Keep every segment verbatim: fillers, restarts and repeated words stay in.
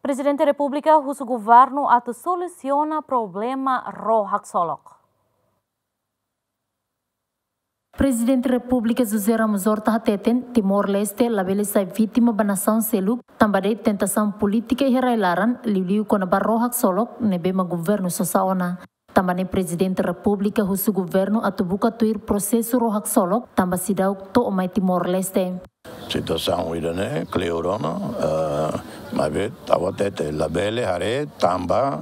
Prezidente Repúblika husu governu atu solusiona problema ró haksolok. Prezidente Repúblika José Ramos Horta hateten, Timor-Leste labele sai vítima ba nasaun seluk, tanba de'it tentasaun polítika iha rai-laran, liuliu kona-ba ró haksolok ne'ebé mak governu sosa ona. Tanba ne'e Prezidente Repúblika husu governu atu buka tuir prosesu ró haksolok, tanba seidauk to'o mai Timor-Leste. Situasaun ida-ne'e kleur ona, eh, maibé ha'u hatete labele haree tanba,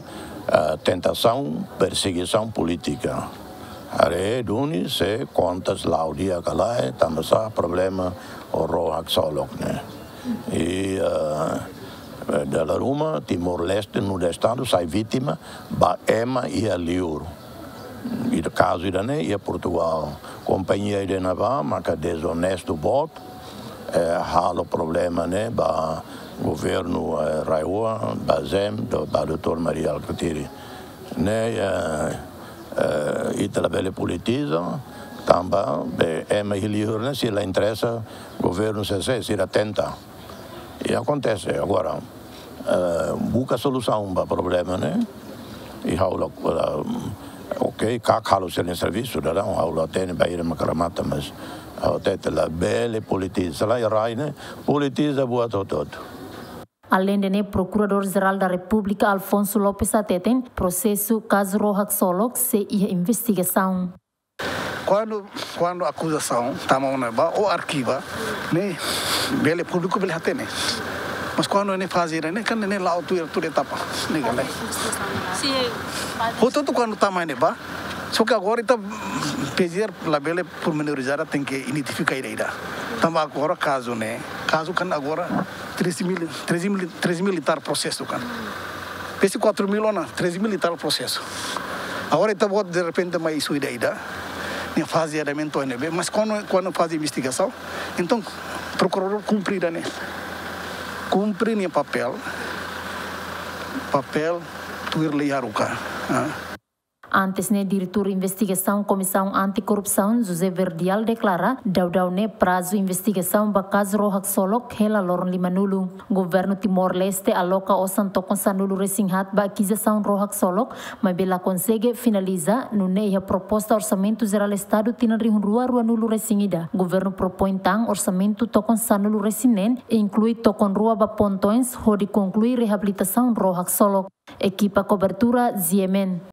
eh, tentasaun persegisaun polítika. Haree duni se kontas la'o di'ak ka lae, tanba sá problema ró haksolok ne'e. I, eh, dala ruma Timor-Leste nu'udar Estadu sai vítima ba ema iha liur. I kazu ida-ne'e iha Portugal. Kompañia ida ne'ebá maka dezonestu boot, eh, halo problema ne'e ba governu, eh, RAEOA, ba ZEESM, do, ba doutór Mari Alkatiri. Ne'e, eh, eh, ita labele politiza, tanba be ema iha liur ne'e sei la interesa governu sé, sé, sira tenta. I akontese agora, eh, buka solusaun ba problema ne'e. I ha'u la, la, ok, KAK halo sira-nia servisu, daudaun ha'u la hatene bainhira mak remata, mas ha'u hatete labele politiza, la iha rai ne'e politiza buat hotu-hotu. Aleinde ne'e, Prokuradór Jerál da Repúblika Alfonso Lopes hateten, prosesu kazu ró haksolok sei iha investigasaun. Kuandu, kuandu akuzasaun tama ona ba ou arkiva, ne'e bele públiku bele hatene. Mas kuandu ne'e faze ne'e, kan ne'e la'o tuir, tuir etapa, ne'e kan ne'e. Hotu-hotu kuandu tama ne'e ba, só que agora ita PGR labele pormenorizada, tenke identifika ida-ida. Tanba agora kazu ne'e, kazu kan agora treze mil, treze mil, treze mil i tal prosesu kan. Pese quatro mil ona, treze mil i tal prosesu. Agora ita-boot derrepente mai isu ida-ida. Nia faze andamentu ne'ebé, mas kuandu, kuandu faze investigasaun, entaun prokuradór kumpre ida-ne'e. Kumpre nia papél, papél tuir lei haruka. Ah. Antes ne'e, Diretór Investigasaun Komisaun Antikorrupsaun, José Verdial, deklara, daudaun ne'e prazu investigasaun ba kazu ró haksolok hela loron limanulu. Governu Timor-Leste aloka osan tokon sanulu-resin-haat ba akizasaun ró haksolok, maibé la konsege finaliza, nune'e iha proposta Orsamentu Jerál Estadu tinan rihun rua ruanulu-resin-ida, governu propoin tan orsamentu tokon sanulu-resin-neen, inklui tokon rua ba pontoens, hodi konklui reabilitasaun ró haksolok. Ekipa kobertura, GMN.